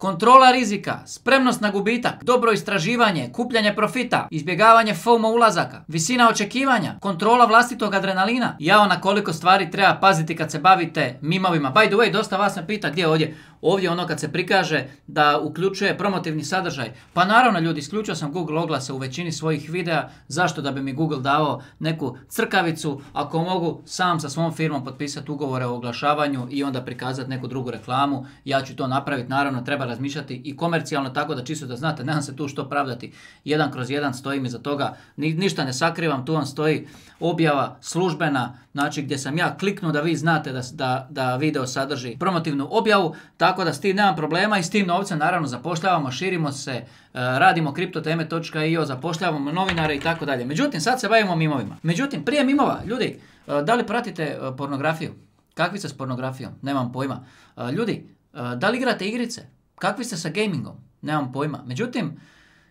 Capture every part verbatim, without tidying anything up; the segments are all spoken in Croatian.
kontrola rizika, spremnost na gubitak, dobro istraživanje, kupljanje profita, izbjegavanje FOMO ulazaka, visina očekivanja, kontrola vlastitog adrenalina. Jao na koliko stvari treba paziti kad se bavite mimovima. By the way, dosta vas me pita gdje je ovdje. Ovdje ono kad se prikaže da uključuje promotivni sadržaj. Pa naravno ljudi, isključio sam Google oglase u većini svojih videa. Zašto? Da bi mi Google dao neku crkavicu ako mogu sam sa svom firmom potpisati ugovore o oglašavanju i onda prikazati neku drugu reklamu. Ja ću to napraviti, naravno treba razmišljati i komercijalno tako da čisto da znate, nemam se tu što pravdati. Jedan kroz jedan stojim iza toga, Ni, ništa ne sakrivam, tu vam stoji objava službena, znači gdje sam ja kliknuo da vi znate da, da, da video sadrži promotivnu objavu, tako da s tim nemam problema i s tim novcem naravno zapošljavamo, širimo se, radimo kriptoteme točka i o, zapošljavamo novinare i tako dalje. Međutim, sad se bavimo mimovima. Međutim, prije mimova, ljudi, da li pratite pornografiju? Kakvi ste s pornografijom? Nemam pojma. Ljudi, da li igrate igrice? Kakvi ste sa gamingom? Nemam pojma. Međutim,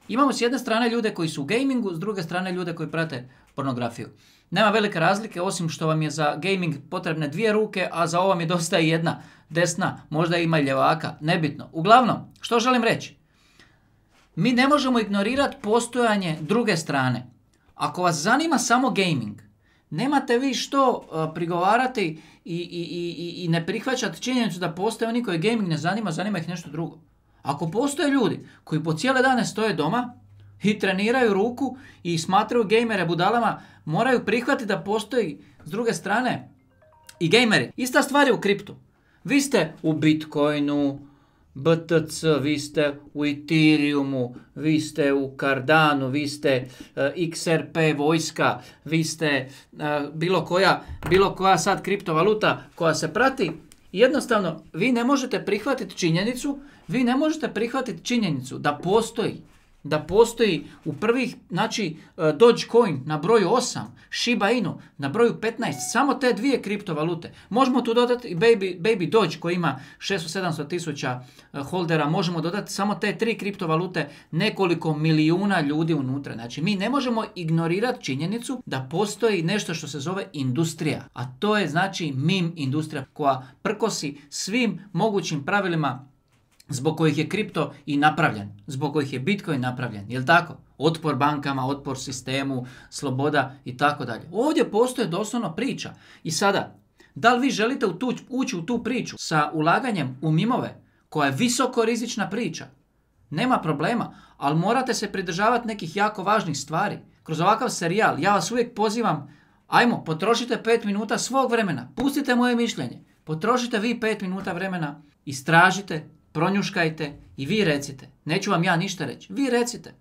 imamo s jedne strane ljude koji su u gamingu, s druge strane ljude koji prate pornografiju. Nema velike razlike, osim što vam je za gaming potrebne dvije ruke, a za ovo vam je dosta i jedna desna, možda ima i ljevaka, nebitno. Uglavnom, što želim reći? Mi ne možemo ignorirati postojanje druge strane. Ako vas zanima samo gaming, nemate vi što uh, prigovarati i, i, i, i ne prihvaćati činjenicu da postoje oni koji gaming ne zanima, zanima ih nešto drugo. Ako postoje ljudi koji po cijele dane stoje doma i treniraju ruku i smatraju gejmere budalama, moraju prihvatiti da postoji s druge strane i gejmeri. Ista stvar je u kriptu. Vi ste u Bitcoinu, B T C, vi ste u Ethereumu, vi ste u Cardanu, vi ste uh, X R P vojska, vi ste uh, bilo koja, bilo koja sad kriptovaluta koja se prati. Jednostavno, vi ne možete prihvatiti činjenicu, vi ne možete prihvatiti činjenicu da postoji, da postoji u prvih, znači Dogecoin na broju osam, Shiba Inu na broju petnaest, samo te dvije kriptovalute. Možemo tu dodati i Baby, Baby Doge koji ima šesto do sedamsto tisuća holdera, možemo dodati samo te tri kriptovalute, nekoliko milijuna ljudi unutra. Znači mi ne možemo ignorirati činjenicu da postoji nešto što se zove industrija, a to je znači meme industrija koja prkosi svim mogućim pravilima zbog kojih je kripto i napravljen, zbog kojih je Bitcoin napravljen, jel tako? Otpor bankama, otpor sistemu, sloboda i tako dalje. Ovdje postoje doslovno priča. I sada, da li vi želite u tu, ući u tu priču sa ulaganjem u mimove, koja je visoko rizična priča? Nema problema, ali morate se pridržavati nekih jako važnih stvari. Kroz ovakav serijal, ja vas uvijek pozivam, ajmo, potrošite pet minuta svog vremena, pustite moje mišljenje, potrošite vi pet minuta vremena, istražite, pronjuškajte i vi recite. Neću vam ja ništa reći. Vi recite.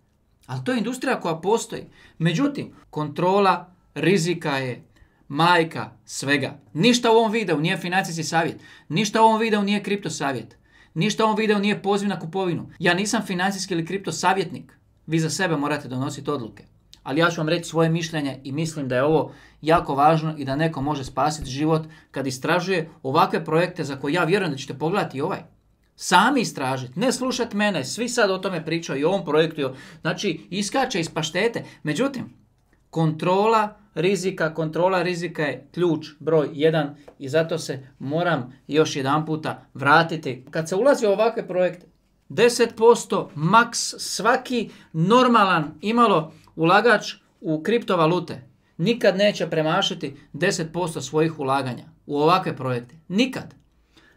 Ali to je industrija koja postoji. Međutim, kontrola rizika je majka svega. Ništa u ovom videu nije financijski savjet. Ništa u ovom videu nije kripto savjet. Ništa u ovom videu nije poziv na kupovinu. Ja nisam financijski ili kripto savjetnik. Vi za sebe morate donositi odluke. Ali ja ću vam reći svoje mišljenje i mislim da je ovo jako važno i da neko može spasiti život kad istražuje ovakve projekte za koje ja vjerujem da ćete pogledati i ovaj. Sami istražiti, ne slušati mene, svi sad o tome pričaju i o ovom projektu, znači iskače iz paštete. Međutim, kontrola rizika, kontrola rizika je ključ broj jedan i zato se moram još jedan puta vratiti. Kad se ulazi u ovakve projekte, deset posto maks svaki normalan imalo ulagač u kriptovalute nikad neće premašiti deset posto svojih ulaganja u ovakve projekte. Nikad.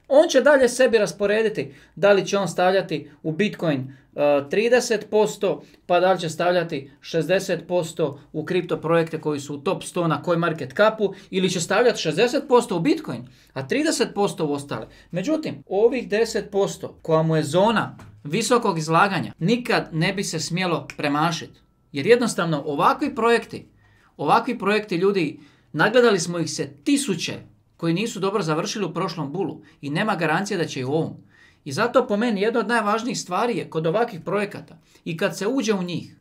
On će dalje sebi rasporediti da li će on stavljati u Bitcoin uh, trideset posto, pa da li će stavljati šezdeset posto u kripto projekte koji su u top sto na CoinMarketCapu ili će stavljati šezdeset posto u Bitcoin, a trideset posto u ostale. Međutim, ovih deset posto koja mu je zona visokog izlaganja nikad ne bi se smjelo premašiti. Jer jednostavno ovakvi projekti, ovakvi projekti ljudi, nagledali smo ih se tisuće koji nisu dobro završili u prošlom bulu i nema garancije da će i u ovom. I zato po meni jedna od najvažnijih stvari je kod ovakvih projekata i kad se uđe u njih,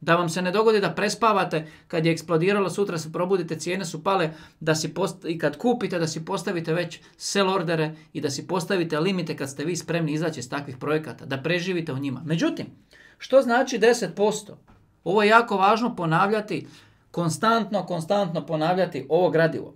da vam se ne dogodi da prespavate kad je eksplodiralo, sutra se probudite, cijene su pale, da si post- i kad kupite da si postavite već sell ordere i da si postavite limite kad ste vi spremni izaći iz takvih projekata, da preživite u njima. Međutim, što znači deset posto? Ovo je jako važno ponavljati, konstantno, konstantno ponavljati ovo gradivo.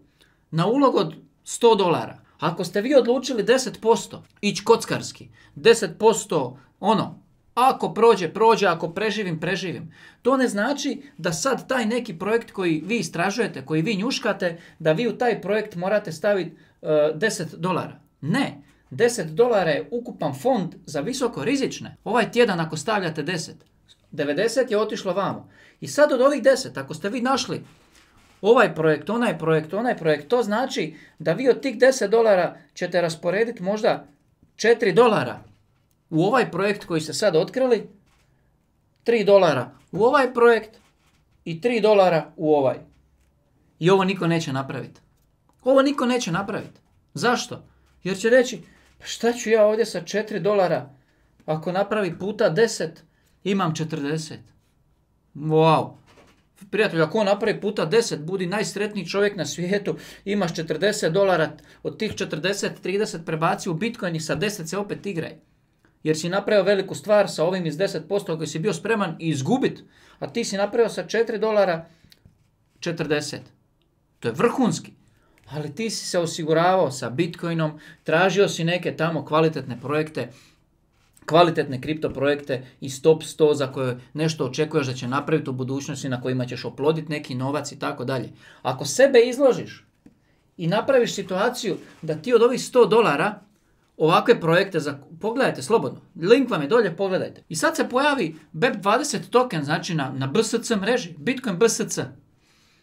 Na ulog od sto dolara, ako ste vi odlučili deset posto ići kockarski, deset posto ono, ako prođe, prođe, ako preživim, preživim. To ne znači da sad taj neki projekt koji vi istražujete, koji vi njuškate, da vi u taj projekt morate staviti uh, deset dolara. Ne, deset dolara je ukupan fond za visoko rizične. Ovaj tjedan ako stavljate deset, devedeset je otišlo vamo. I sad od ovih deset, ako ste vi našli ovaj projekt, onaj projekt, onaj projekt, to znači da vi od tih deset dolara ćete rasporediti možda četiri dolara u ovaj projekt koji ste sad otkrili, tri dolara u ovaj projekt i tri dolara u ovaj. I ovo niko neće napraviti. Ovo niko neće napraviti. Zašto? Jer će reći, pa šta ću ja ovdje sa četiri dolara, ako napravi puta deset, imam četrdeset. Wow. Prijatelj, ako on napravi puta deset, budi najsretniji čovjek na svijetu, imaš četrdeset dolara, od tih četrdeset, trideset prebaci u Bitcoin i sa deset se opet igraj. Jer si napravio veliku stvar sa ovim iz deset posto koji si bio spreman i izgubit, a ti si napravio sa četiri dolara četrdeset. To je vrhunski. Ali ti si se osiguravao sa Bitcoinom, tražio si neke tamo kvalitetne projekte, kvalitetne kripto projekte iz top sto za koje nešto očekuješ da će napraviti u budućnosti, na kojima ćeš oploditi neki novac i tako dalje. Ako sebe izložiš i napraviš situaciju da ti od ovih sto dolara ovakve projekte, za, pogledajte slobodno, link vam je dolje, pogledajte. I sad se pojavi B E P dvadeset token, znači na, na B S C mreži, Bitcoin B S C.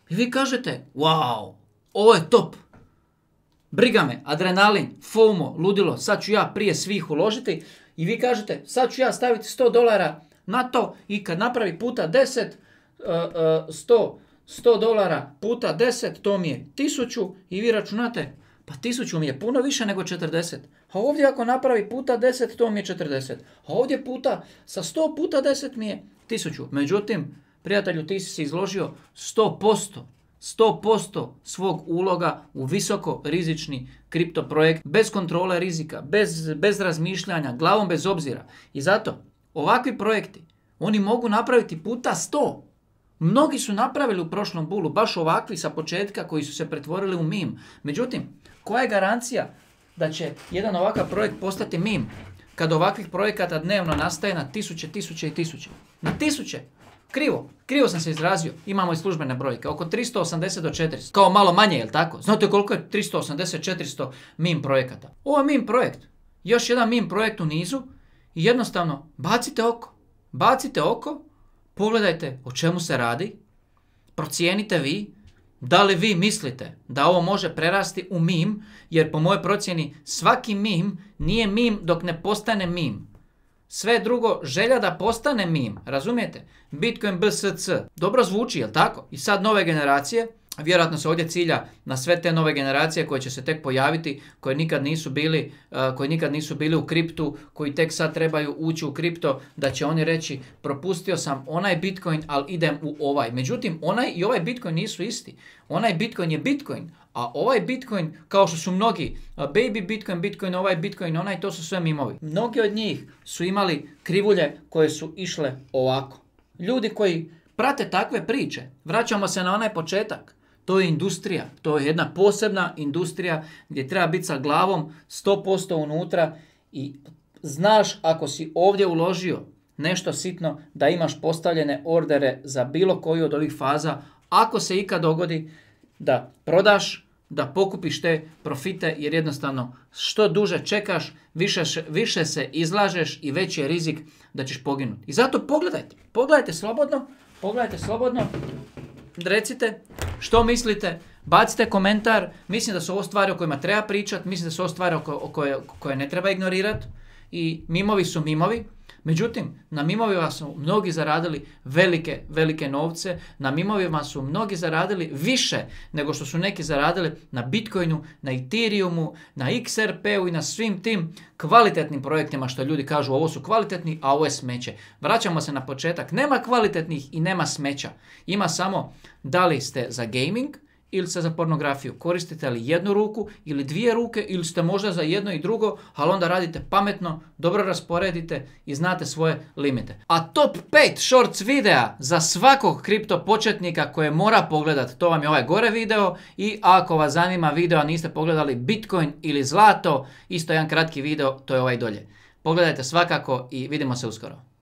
I vi kažete, wow, ovo je top. Briga me, adrenalin, FOMO, ludilo, sad ću ja prije svih uložiti. I vi kažete, sad ću ja staviti sto dolara na to i kad napravi puta deset, sto, sto dolara puta deset, to mi je tisuću i vi računate, pa tisuću mi je puno više nego četrdeset. A ovdje ako napravi puta deset, to mi je četrdeset. A ovdje puta, sa sto puta deset mi je tisuću. Međutim, prijatelju, ti si se izložio sto posto. sto posto svog uloga u visoko rizični kripto projekt, bez kontrole rizika, bez, bez razmišljanja, glavom bez obzira. I zato, ovakvi projekti, oni mogu napraviti puta sto. Mnogi su napravili u prošlom bulu, baš ovakvi sa početka koji su se pretvorili u meme. Međutim, koja je garancija da će jedan ovakav projekt postati meme kad ovakvih projekata dnevno nastaje na tisuće, tisuće i tisuće? Na tisuće! Krivo, krivo sam se izrazio, imamo i službene brojke, oko tristo osamdeset do četiristo, kao malo manje, jel tako? Znate koliko je tristo osamdeset četiristo meme projekata? Ovo je meme projekt, još jedan meme projekt u nizu i jednostavno bacite oko, bacite oko, pogledajte o čemu se radi, procijenite vi, da li vi mislite da ovo može prerasti u meme, jer po mojoj procjeni svaki meme nije meme dok ne postane meme. Sve drugo, želja da postane meme, razumijete? Bitcoin B S C, dobro zvuči, jel tako? I sad nove generacije, vjerojatno se ovdje cilja na sve te nove generacije koje će se tek pojaviti, koje nikad nisu bili, uh, koji nikad nisu bili u kriptu, koji tek sad trebaju ući u kripto, da će oni reći propustio sam onaj Bitcoin, ali idem u ovaj. Međutim, onaj i ovaj Bitcoin nisu isti. Onaj Bitcoin je Bitcoin, a ovaj Bitcoin, kao što su mnogi, baby Bitcoin, Bitcoin, ovaj Bitcoin, onaj, to su sve mimovi. Mnogi od njih su imali krivulje koje su išle ovako. Ljudi koji prate takve priče, vraćamo se na onaj početak, to je industrija, to je jedna posebna industrija gdje treba biti sa glavom sto posto unutra i znaš ako si ovdje uložio nešto sitno da imaš postavljene ordere za bilo koju od ovih faza, ako se ikad dogodi da prodaš, da pokupiš te profite, jer jednostavno što duže čekaš, više, više se izlažeš i veći je rizik da ćeš poginuti. I zato pogledajte, pogledajte slobodno, pogledajte slobodno, recite što mislite, bacite komentar, mislim da su ovo stvari o kojima treba pričati, mislim da su ovo stvari o koje, koje ne treba ignorirati i mimovi su mimovi. Međutim, na mimovima su mnogi zaradili velike, velike novce, na mimovima su mnogi zaradili više nego što su neki zaradili na Bitcoinu, na Ethereumu, na X R P-u i na svim tim kvalitetnim projektima što ljudi kažu ovo su kvalitetni, a ovo je smeće. Vraćamo se na početak, nema kvalitetnih i nema smeća. Ima samo da li ste za gaming ili ste za pornografiju. Koristite li jednu ruku ili dvije ruke ili ste možda za jedno i drugo, ali onda radite pametno, dobro rasporedite i znate svoje limite. A top pet shorts videa za svakog kripto početnika koje mora pogledati, to vam je ovaj gore video i ako vas zanima video, a niste pogledali Bitcoin ili zlato, isto jedan kratki video, to je ovaj dolje. Pogledajte svakako i vidimo se uskoro.